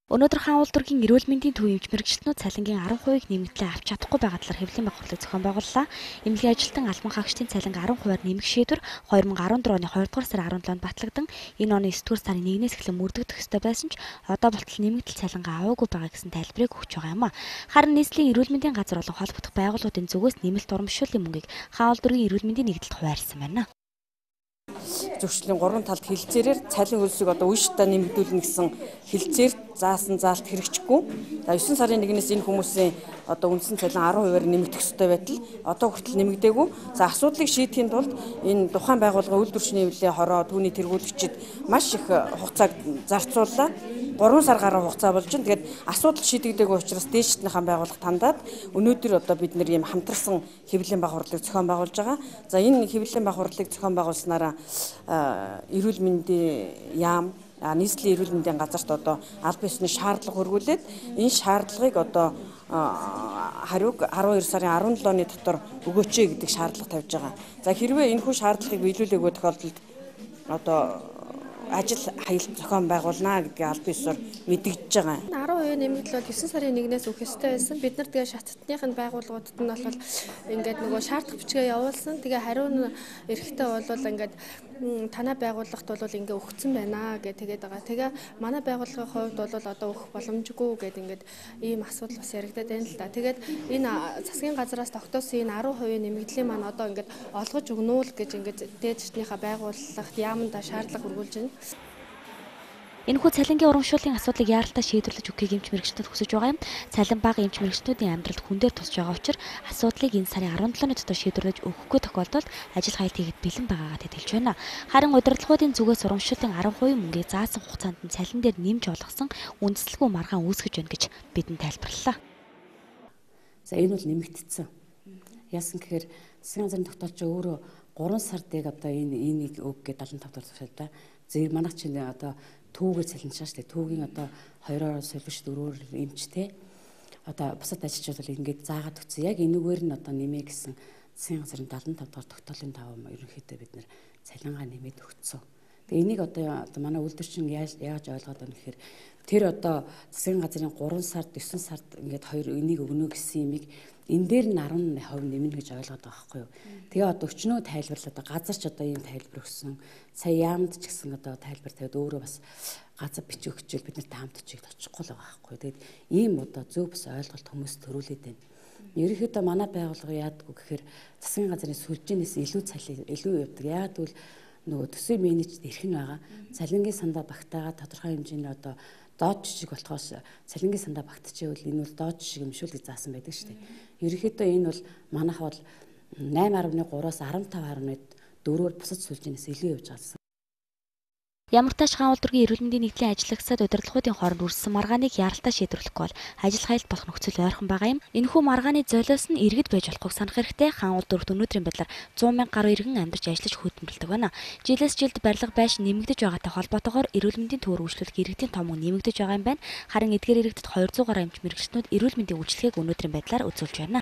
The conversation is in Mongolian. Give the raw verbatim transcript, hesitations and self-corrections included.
Өнөөдөр хаан улдургийн эрүүл мэндийн төв эмч мэргэжилтнүүд цалингийн арван хувийг нэмэгдлээ авч чадахгүй байгаа талаар хэвлэлийн байгууллага зохион байгууллаа. Эмнэлгийн ажилтан албан хаагчдын цалинг арван хувиар нэмэх шийдвэр хоёр мың арван дөрөв оны хоёрдугаар сарын арван долоонд батлагдсан. Энэ оны есдүгээр сарын нэгнээс эхлэн мөрдөгдөх ёстой байсан ч одоо болтол нэмэгдэл цалингаа аваагүй байгаа гэсэн тайлбарыг өгч байгаа юм а. Харин нийслэлийн эрүүл мэндийн газар болон холбогдох байгууллагуудын зүгээс нэмэлт урамшууллын мөнгийг хаан улдургийн эрүүл мэндийн нэгдэлд хуваарлсан байна. Зөвшлийн гурван талд хилцээрээр цалин хөлсийг одоо үе шатаа нэмэгдүүлнэ гэсэн хилцээр заасан заалт хэрэгжихгүй. За девөн сарын нэгнээс энэ хүмүүсийн одоо үндсэн цалин арван хувиар нэмэгдэх ёстой байтал одоо хүртэл нэмэгдээгүй. За асуудлыг шийдэхийн тулд энэ тухайн байгууллага үйлдвэрчний эвлэлийн хороо түүний тэргүүлэгчид маш их хугацааг зарцууллаа. гурван сар гаруй хугацаа болж байна. Тэгээд асуудал шийдэгдээгүй учраас дээшднийхэн байгууллага тандаад өнөөдөр одоо бид нэр ийм хамтарсан хэвлэлийн байгууллагыг зохион байгуулж байгаа. За энэ хэвлэлийн байгууллагыг зохион байгуулснараа эрүүл мэндийн яам нийслэлийн эрүүл мэндийн газарт одоо аль биесны шаардлага хөрвүүлээд энэ шаардлагыг одоо хариуг арван хоёр сарын арван долооны дотор өгөөч гэдэг шаардлага тавьж байгаа. За хэрвээ энэхүү шаардлагыг биелүүлээгүй тохиолдолд одоо ажил хаялт зохион байгуулна гэдгийг аль биесээр мэдэгдэж байгаа. арван хувийн нэмэгдэл бол девөн сарын нэгнээс өгөх ёстой байсан. Бид нар тэгээ шатны байгууллагуудад нь бол ингээд нөгөө шаардлага бичгээ явуулсан. Тэгээ хариу нь эрэхтэй бол ингээд танай байгууллагт бол ингээ өгцөн байна гэж тэгээд байгаа. Тэгээ манай байгууллагын хувьд бол одоо өгөх боломжгүй гэдэг ингээд ийм асуудал бас яригдаад байна л да. Тэгээд энэ засгийн газараас тогтоосон энэ арван хувийн нэмэгдлийн маань одоо ингээд олгож өгнө үү гэж ингээд дээдчднийхээ байгууллагт яамдаа шаардлага хөрвүүлж байна. Энэхүү цалингийн урамшууллын асуудлыг яаралтай шийдвэрлэж өгөхийг эмч мэргэжилтнүүд хүсэж байгаа юм. Цалин бага эмч мэргэжилтнүүдийн амьдралд хүн дээр тусч байгаа учраас асуудлыг энэ сарын арван долооны дотор шийдвэрлэж өгөхгүй тохиолдолд ажил хаялт хийгээд бэлэн байгаагаа тэтгэлж байна. Харин удирдлагуудын зүгээс урамшууллын арван хувийн мөнгийг заасан хугацаанд нь цалин дээр нэмж олгосон үндэслэлгүй маргаан үүсгэж байна гэж бидэнд тайлбарлалаа. За энэ бол нэмэгдсэн. Яасан гэхээр засгийн газрын тогтоолч өөрөө гурван сардыг одоо энэ энийг өг гэж дадлан тавталж байна. Зэрэг манайх чинь одоо түүгээр цалинчаа шүү дээ. Түүгийн одоо хоёроор солиуч дөрөөр эмчтэй одоо бусад ажилчид бол ингээд заагаад өгсөн. Яг энэгээр нь одоо нэмээ гэсэн засгийн газрын дадлан тав дахь тогтоолын даваа ерөнхийдөө бид нэр цалингаа нэмээд өгсөн. Тэгээ энийг одоо одоо манай үйлдвэрчин яаж яаж ойлгоод байна гэхээр тэр одоо засгийн газрын гурван сард девөн сард ингээд хоёр энийг өгнө гэсэн юмыг энэ дээр нь арван хувь нэмнэ гэж ойлгоод байгаа байхгүй юу. Тэгээ одоо өчнөө тайлбарлаад газарч одоо ийм тайлбар өгсөн. Сая яамд ч гэсэн одоо тайлбар тавиад өөрөө бас газар бичих өгчөөл бид нарт хамт чиг очихгүй л байгаа байхгүй юу. Тэгээд ийм одоо зөв бас ойлголт хүмүүс төрүүлээд байна. Ерөнхийдөө манай байгууллага яадаггүй гэхээр засгийн газрын сүлжээнээс илүү цалин илүү явдаг. Яагаад гэвэл нөгөө төсвийн менежд ирэх нь байгаа. Цалингийн сандаа багтаага тодорхой хэмжээний одоо доод жижиг болохоос цалингийн сандаа багтчихвэл энэ бол доод жижиг юм шүү гэж заасан байдаг шүү дээ. Ерөнхийдөө энэ бол манайх бол найман гаруй гураас арван тав гаруй дөрөөр бусад сүлжээнээс илүү явж байгаа. Ямар тач хаан улдургийн эрүүл мэндийн нэгдлийн ажиллагсад удирдлагуудын хооронд үрссэн маргааныг яаралтай шийдвэрлэхгүй бол ажил хаялт болох нөхцөл ойрхон байгаа юм. Энэхүү маргааны золиос нь иргэд байж болохыг санах хэрэгтэй. Хаан улдурт өнөөдрийн байдлаар зуун мянга гаруй иргэн амьдарч ажиллаж хөдөлмөрлөдөг байна. Жилээс жилд барилга байшин нэмэгдэж байгаатай холбоотойгоор эрүүл мэндийн төвөр үйлчлүүлэх иргэдийн том мөн нэмэгдэж байгаа юм байна. Харин эдгээр иргэдэд хоёр зуун гаруй эмч мэргэжилтнүүд эрүүл мэндийн үйлчлэгийг өнөөдрийн байдлаар үзүүлж байна.